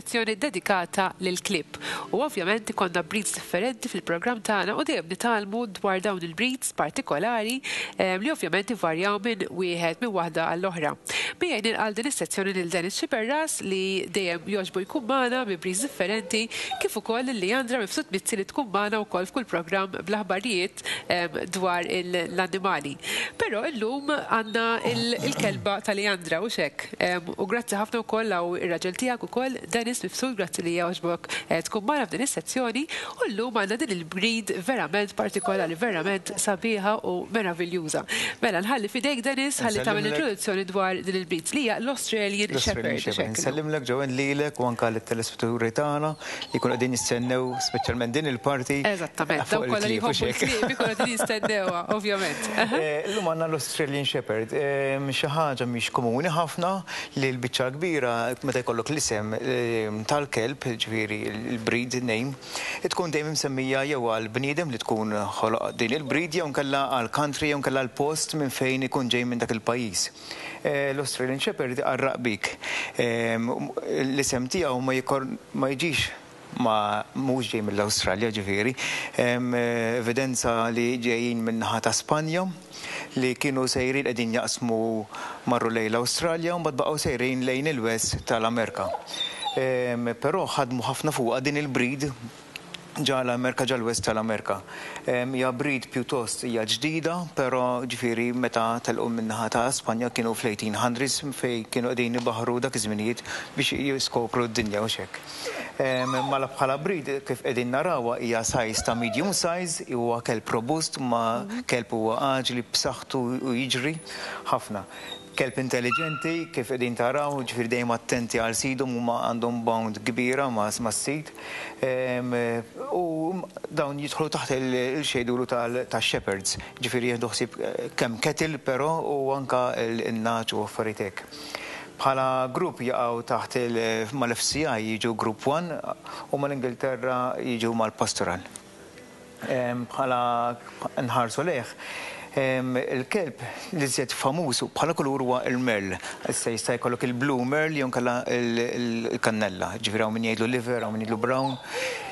sezzjoni dedikata lill-klieb. U ovvjament ikollna breeds differenti fil-programm tagħna u dejjem nitgħallmu dwar dawn il-breeds partikolari li ovvjament ivarjaw minn wieħed minn waħda għall-oħra. Miegħi nilqa' għal din is-sezzjoni lil Dennis Sciberras li dejjem jogħġbu jkun magħna bi breeds differenti kif ukoll lil Leandra Mifsud Mizzi li tkun magħna wkoll f'kull programm bl-aħbarijiet dwar l-annimali. Però illum għandna il-kelba ta' Leandra, hux hekk? U grazzi ħafna wkoll hawn ir-raġel tiegħek ukoll, Dennis Mifsud, grazzi li jogħġbok tkun magħna f'din is-sezzjoni. U llum għandna din il-breed verament partikolari, verament sabiħa u meraviljuża. Mela nħalli f'idejk Dennis ħalli tagħmel introduzzjoni dwar din il-breed li hija l-Australian Shepherd. Hux hekk? Insellimlek Joanne lilek u anke lit-telespettaturi tagħna li jkunu qegħdin jistennew speċjalment din il-parti. Eżattament, dawk kollha li jħobbu l-klieb ikunu qegħdin jistennewha, ovvjament. Illum għandna l-Australian Shepherd. Xi ħaġa mhix komuni ħafna li l-biċċa l-kbira meta jkollok l-isem tal-kelb, jiġifieri l-breed name, tkun dejjem imsemmija jew għall-bniedem li tkun ħoloq din il-breed jew inkella għall-country jew inkella għall-post minn fejn ikun ġej minn dak il-pajjiż. L-Australian Shepherd iqarraq bik. L-isem tiegħu ma jiġix ma mhux ġej mill-Awstralja ġifieri. Hemm evidenza li ġejjin min-naħa ta' Spanja li kienu sejrin qegħdin jaqsmu marru lejn l-Awstralja u mbagħad baqgħu sejrin lejn il-west tal-Amerka. Però ħadmu ħafna fuqha din il-breed ġa l-Amerka ġa l-west tal-Amerka. Hija breed pjuttost hija ġdida, però ġifieri meta telqu min-naħa ta' Spanja kienu fl-1800s fejn kienu qegħdin ibaħħru dak iż-żminijiet biex jiskopru d-dinja u x'hekk. Mela bħala breed kif qegħdin narawha hija size ta' medium size, huwa kelb robust ma kelb huwa aġli b'saħħtu u jiġri ħafna. Kelb intelliġenti kif qegħdin taraw, jiġifieri dejjem attenti għal sidhom huma għandhom bond kbira mas-sid. U dawn jidħlu taħt il-xejdulu tax-shepherds, jiġifieri jieħdu ħsieb kemm cattle però u anke n-nagħaġ u affarijiet hekk. Bħala grupp jaqgħu taħt mal-FCI jiġu Group One u mal-Ingilterra jiġu mal-Pastoral. Bħala nħarsu lejh, il-kelb l-iżjed famuż bħala kulur huwa l-merle. Issa jista' jkollok il-blue merle jew inkella l-kannella. Ġifieri hawn min jgħidlu liver, hawn min jgħidlu brown.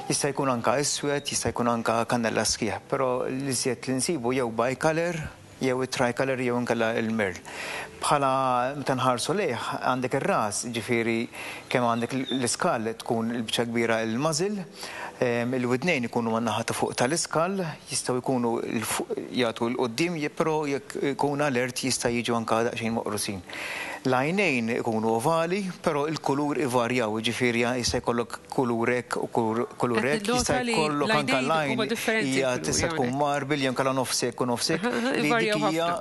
Jista' jkun anke iswed, jista' jkun anke kannella sħiħ, però l-iżjed li nsibu jew bicolor jew it-tricolor jew inkella l-merle. Bħala meta nħarsu lejh għandek ir-ras, jiġifieri kemm għandek l-iskall tkun il-biċċa kbira l-muzzle, il-widnejn ikunu man-naħa ta' fuq tal-iskall, jistgħu jkunu jagħtu 'l quddiem però jekk ikun alert jista' jiġu anke daqsxejn moqrusin. L-għajnejn ikunu ovali, però l-kulur ivarjaw, jiġifieri jista' jkollok kulur hekk u kulur hekk, jista' jkollok anke l-għajn hija tista' tkun marble jew inkella nofs hekk u nofs hekk, li dik hija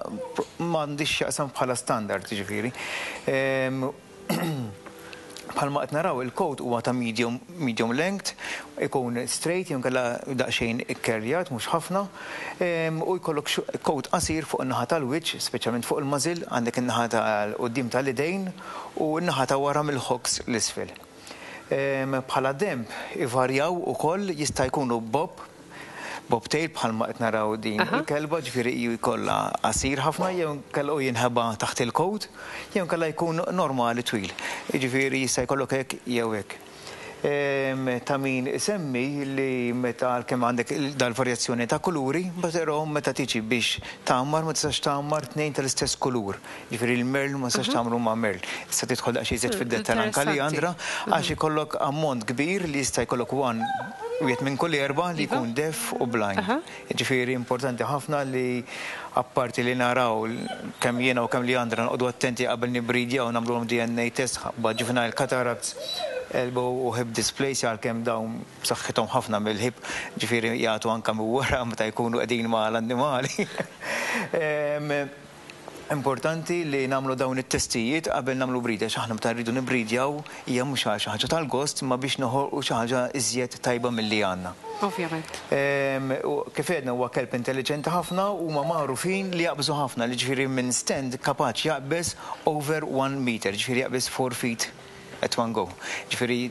m'għandhiex x'jaqsam bħala standard, jiġifieri. Bħalma qed naraw il-coat huwa ta' medium medium length, ikun straight jew inkella daqsxejn ikkerljat mhux ħafna, u jkollok coat qasir fuq in-naħa tal-wiċċ, speċjalment fuq il-muzzle, għandek in-naħa tal-quddiem tal-idejn u n-naħa ta' wara mill-hocks 'l isfel. Bħala denb ivarjaw ukoll, jista' jkunu bob, bobtail bħalma qed naraw din il-kelba, ġifieri jkollha qasir ħafna jew inkella u jinħeba taħt il-coat, jew inkella jkun normali twil. Jiġifieri jista' jkollok hekk jew hekk. Ta' min isemmi li meta għalkemm għandek dal-varjazzjoni ta' kuluri, però meta tiġi biex tgħammar ma tistax tgħammar tnejn tal-istess kulur. Jiġifieri l-merl ma tistax tagħmlu ma' merl. Issa tidħol daqsxejn iżjed fid-dettall anke Leandra, għax ikollok ammont kbir li jista' jkollok one wieħed minn kull erbgħa li jkun deaf u blind. Jiġifieri importanti ħafna li apparti li naraw kemm jiena u kemm Leandra noqogħdu attenti qabel nibbridjaw nagħmluhom DNA test ħabba juvenile cataracts, elbow u hip dysplasia għalkemm dawn b'saħħithom ħafna mill-hip, ġifieri jagħtu anke minn wara meta jkunu qegħdin mal-annimali. Importanti li nagħmlu dawn it-testijiet qabel nagħmlu breed għax aħna meta rridu nibbridjaw hija mhux għal xi ħaġa tal-gost imma biex noħolqu xi ħaġa iżjed tajba milli għandna. Ovvjament. Kif għedna huwa kelb intelliġenti ħafna u huma magħrufin li jaqbżu ħafna, jiġifieri minn stand kapaċi jaqbeż over one meter, jiġifieri jaqbeż four feet. At one go. Ġifieri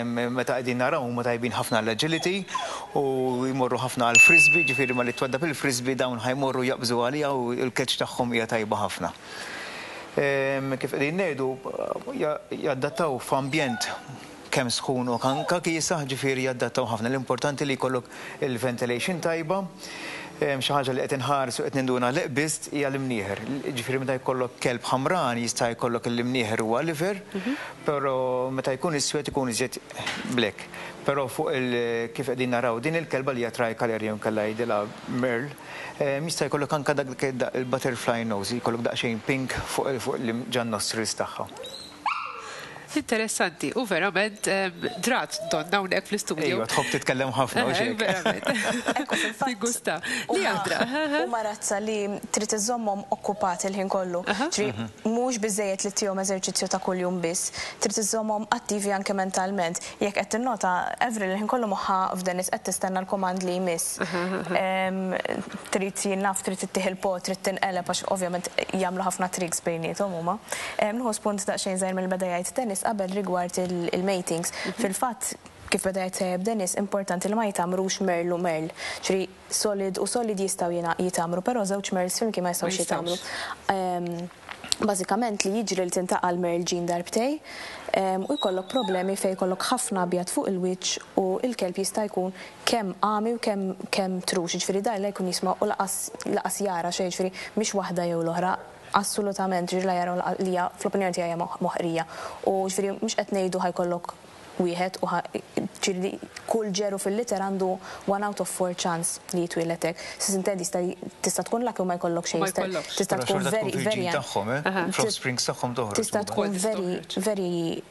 meta qegħdin naraw huma tajbin ħafna għall-agility u jmorru ħafna għall-frisbee, ġifieri malli twaddab il-frisbee dawn ħa jmorru jaqbżu għaliha u l-catch tagħhom hija tajba ħafna. Kif qegħdin ngħidu, jadattaw f'ambjent kemm sħun u anke kiesaħ, ġifieri jadattaw ħafna. L-importanti li jkollok il-ventilation tajba. Xi ħaġa li qed inħares u qed ninduna li qbiżt hija l-imnieħer. Ġifieri meta jkollok kelb ħamran jista' jkollok l-imnieħer huwa liver, però meta jkun iswed ikun iżjed black. Però fuq il kif qegħdin naraw din il-kelba li hija tricolor jew inkella jgħidilha merle, jista' jkollok anke dak il-butterfly nose, jkollok daqsxejn pink fuq fuq ġan-nostrils tagħha. Interessanti, u verament drat donna hawnhekk fl-istudio. Ejwa, tħobb titkellem ħafna u xejn. Verament. Ekku fil-fatt. Tigusta. Li għandra. Huma razza li trid iżżommhom okkupati l-ħin kollu. Ġifieri mhux biżejjed li ttihom eżerċizzju ta' kuljum biss, trid iżżommhom attivi anke mentalment. Jekk qed tinnota, Avril il-ħin kollu moħħha f'Dennis qed tistenna l-kumand li jmiss. Trid jien naf, trid ittih il-pot, trid tinqeleb għax ovvjament jagħmlu ħafna tricks bejniethom huma. Nieħu spunt daqsxejn żgħir milli beda jgħid Dennis qabel rigward il-matings. Fil-fatt, kif beda jgħid tajjeb Dennis, importanti li ma jitgħammrux merl u merl. Ġifieri solid u solid jistgħu jitgħammru, però żewġ merls flimkien ma jistgħux jitgħammru. Bażikament li jiġri li tintaqa' l-merl ġin darbtej u jkollok problemi fejn jkollok ħafna abjad fuq il-wiċċ u l-kelb jista' jkun kemm għami u kemm kemm trux. Jiġifieri dan la jkun jisma' u laqas laqas jara xejn, jiġifieri mhix waħda jew l-oħra. Assolutament, ġifieri la jaraw li hija fl-opinjoni tiegħi hija moħqrija. U ġifieri mhux qed ngħidu ħa jkollok wieħed u ħa ġifieri kull ġeru fil-litter għandu one out of four chance li jitwieled hekk. S'intendi jista' tista' tkun lucky u ma jkollok xejn. Tista' tkun very very tagħhom, eh? Fl-offsprings tagħhom toħroġ. Tista' tkun very very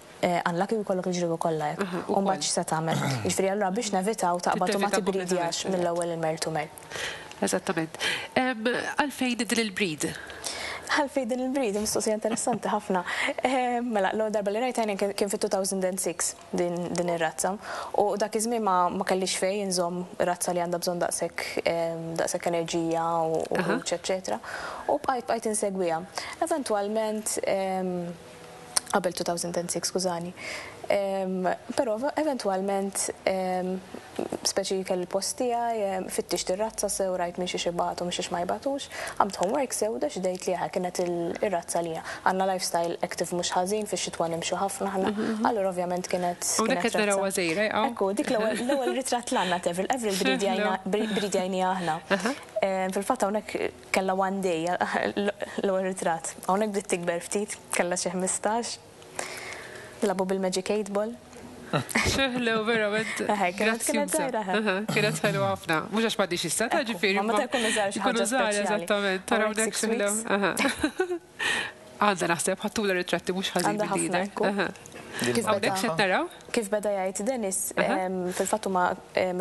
unlucky u jkollok il-ġriewi kollha hekk. U mbagħad x'se tagħmel? Jiġifieri allura biex nevitaw taqbad u ma tibridjax mill-ewwel il-merl to merl. Eżattament. Għalfejn din il-breed? Għalfejn din il-breed? Mistoqsija interessanti ħafna. Mela, l-ewwel darba li rajtha jien kien fit-2006 din din ir-razza. U dak iż-żmien ma ma kellix fejn inżomm razza li għandha bżonn daqshekk daqshekk enerġija u ħruġ eċċetera. U bqajt bqajt insegwiha. Eventwalment qabel 2006, skużani. Però eventwalment speċi kelli l-post tiegħi, fittixt ir-razza sew rajt minn xiex ibatu minn xiex ma jbatux, għamilt homework sew u deċidejt li eħe kienet ir-razza għalija. Għandna lifestyle active mhux ħażin, fix-xitwa nimxu ħafna aħna, allura ovvjament kienet Hawnhekk qed narawha żgħira jaqgħu. Ekku, dik l-ewwel ritratt l-għandna t'Avril, Avril bridjajniha aħna. Fil-fatt hawnhekk Kellha one day l-ewwel ritratt. Hawnhekk bdiet tikber ftit, kellha xi 15. Nilagħbu bil-magic 8 ball. Xi ħlew verament. Eħe, kienet kienet żgħira eħe. Kienet ħelwa ħafna. Mhux għax m'għadhiex issa ta' ġifieri. Ma meta jkunu żgħar xi ħaġa speċjali. Eżattament. Tara hawnhekk xi ħlew. Għandha naħseb ħadtulha ritratti mhux ħażin Għandha ħafna ekku. Hawnhekk x'qed naraw? Kif beda jgħid Dennis, fil-fatt huma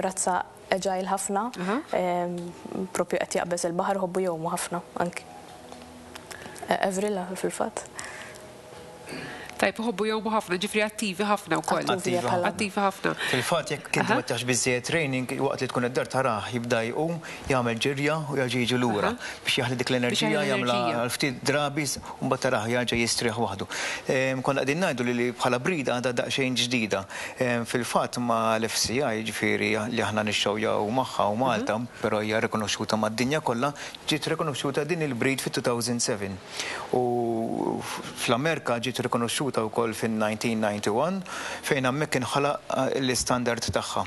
razza agile ħafna, propju qed jaqbeż il-baħar iħobbu jgħumu ħafna anki. Avril fil-fatt. Tajjeb, iħobbu jgħumu ħafna, ġifieri attivi ħafna wkoll. Attivi ħafna. Fil-fatt jekk inti ma tagħx biżżejjed training, waqt li tkun id-dar tarah jibda jqum, jagħmel ġirja u jerġa' jiġi lura biex jaħli dik l-enerġija jagħmilha għal ftit drabi u mbagħad tarah jerġa' jistrieħ waħdu. Konna qegħdin ngħidu li bħala breed għadha daqsxejn ġdida. Fil-fatt ma' l-FCI, jiġifieri li aħna nixxowjaw magħha u Malta, però hija rikonoxxuta mad-dinja kollha, ġiet rikonoxxuta din il-breed fit-2007. U fl-Amerka ġiet rikonoxxuta wkoll fin-1991 fejn hemmhekk inħalaq l-istandard tagħha.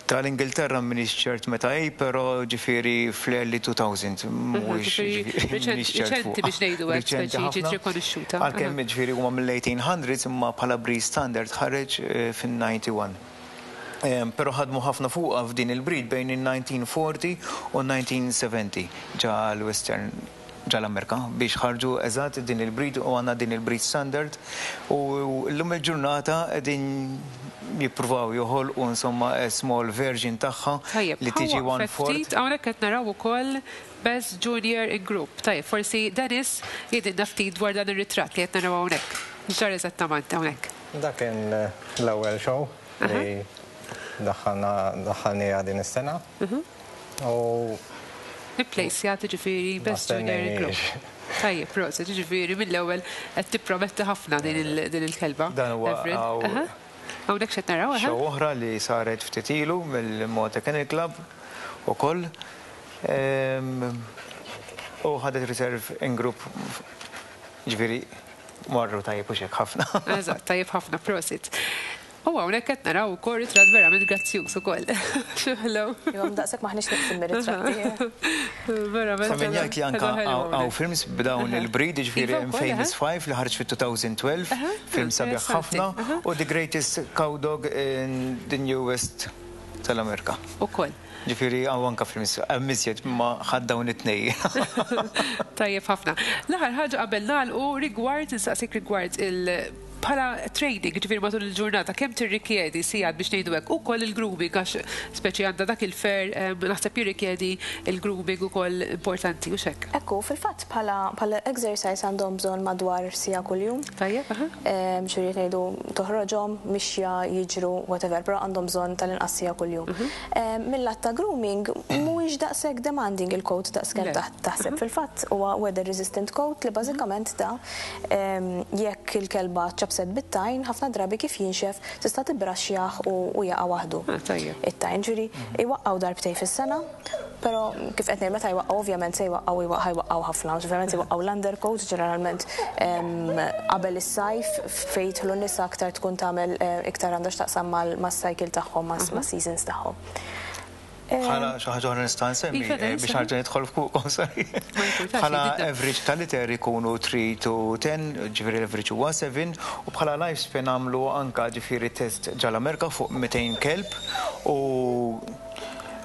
Tal-Ingilterra m'iniex ċert meta hi, però ġifieri fl-early 2000, mhuwiex ġifieri m'iniex ċert fuqha. Riċenti biex ngħidu hekk, speċi ġiet rikonoxxuta. Għalkemm ġifieri huma mill-1800s imma bħala breed standard ħareġ fin-91. Però ħadmu ħafna fuqha f'din il-breed bejn in-1940 u n-1970 ġa l-Western ġa l-Amerka biex ħarġu eżatt din il-breed u għandna din il-breed standard u llum il-ġurnata qegħdin jippruvaw joħolqu insomma a small version tagħha li tiġi one fourth. Tajjeb, ftit hawnhekk qed naraw ukoll Best Junior in Group. Tajjeb, forsi Dennis jgħidilna ftit dwar dan ir-ritratt li qed naraw hawnhekk. X'ġara eżattament hawnhekk? Dak kien l-ewwel show li daħħalna daħħalniha din is-sena. U Ipplejsjat jiġifieri Best Junior in Group. Tajjeb, proset, jiġifieri mill-ewwel qed tipprometti ħafna din il-kelba. Dan huwa Hawnhekk x'qed naraw? Show oħra li saret ftit ilu mill-Malta Kennel Club ukoll. U ħadet reserve in group ġifieri marru tajjeb u x'hekk ħafna. Eżatt, tajjeb ħafna, prosit. U hawnhekk qed naraw ukoll ritratt verament grazzjuż ukoll. Xi ħelu. Iva, daqshekk m'aħniex neqsin mir-ritratti. Verament. Ta' min jgħid li anka hawn films b'dawn il-breed, jiġifieri hemm Famous Five li ħareġ fit-2012, film sabiħ ħafna, u The Greatest Cow Dog in the New West tal-Amerika. Ukoll. Ġifieri hawn anka films, hemm iżjed imma ħadt dawn it-tnejn. Tajjeb ħafna. L-aħħar ħaġa qabel nagħlqu rigward, insaqsik rigward il- Bħala training, jiġifieri matul il-ġurnata, kemm tirrikjedi sigħat biex ngħidu hekk, ukoll il-grooming għax speċi għandha dak il-fur naħseb jirrikjedi l-grooming ukoll importanti, hux hekk? Hekk hu, fil-fatt bħala bħala exercise għandhom bżonn madwar siegħa kuljum. Tajjeb, aha. Xi rrid ngħidu toħroġhom, mixja, jiġru, whatever, però għandhom bżonn tal-inqas siegħa kuljum. Mil-lat ta' grooming mhuwiex daqshekk demanding il-coat daqs kemm taħseb. Fil-fatt huwa weather resistant coat li bażikament da Jekk il-kelba ċċappset bit-tajn, ħafna drabi kif jinxef tista' tibbraxxjah u jaqa' waħdu. It-tajn, ġifieri jwaqqgħu darbtejn fis-sena, però kif qed ngħid meta jwaqqgħu ovvjament se jwaqqgħu ħa jwaqqgħu ħafna, ovvjament se jwaqqgħu l-undercoat ġeneralment qabel is-sajf fejn jidħlu n-nisa aktar tkun tagħmel iktar għandha x'taqsam mas-cycle tagħhom, mas-seasons tagħhom. Bħala xi ħaġa oħra nista' nsemmi Iva, eh, biex ħarġa nidħol fuqkom, sorry. Bħala average tal-liter ikunu 3 to 10, ġifieri l-average huwa 7, u bħala lifespan għamlu anka ġifieri test ġal-Amerika fuq 200 kelb u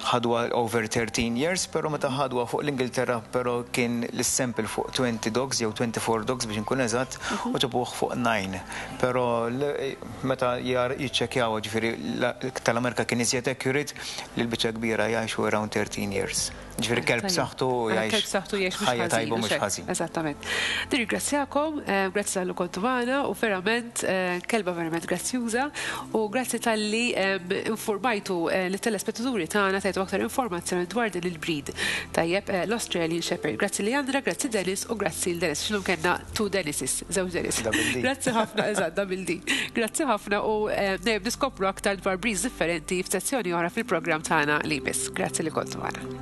ħadwa over 13 years, pero meta ħadwa fuq l-Ingilterra pero kien l-sample fuq 20 dogs jew 24 dogs biex nkun eżatt u ġabuh fuq 9. Pero meta jiċċekkjaw ġifieri tal-Amerika kien iżjed accurate li l-biċċa kbira jgħixu around 13 years. Ġifieri kelb b'saħħtu jgħix. Kelb b'saħħtu jgħix mhux ħajja tajba mhux ħażin. Eżattament. Nirringrazzjakom, grazzi talli kontu magħna u verament kelba verament grazzjuża u grazzi talli informajtu lit-telespettaturi tagħna tajtu aktar informazzjoni dwar din il-breed. Tajjeb, l-Australian Shepherd. Grazzi Leandra, grazzi Dennis u grazzi 'l Dennis. X'illum kellna two Dennises, żewġ Dennis. Grazzi ħafna, eżatt, double D. Grazzi ħafna u dejjem niskopru aktar dwar breeds differenti f'sezzjoni oħra fil-programm tagħna li jmiss. Grazzi li kontu magħna.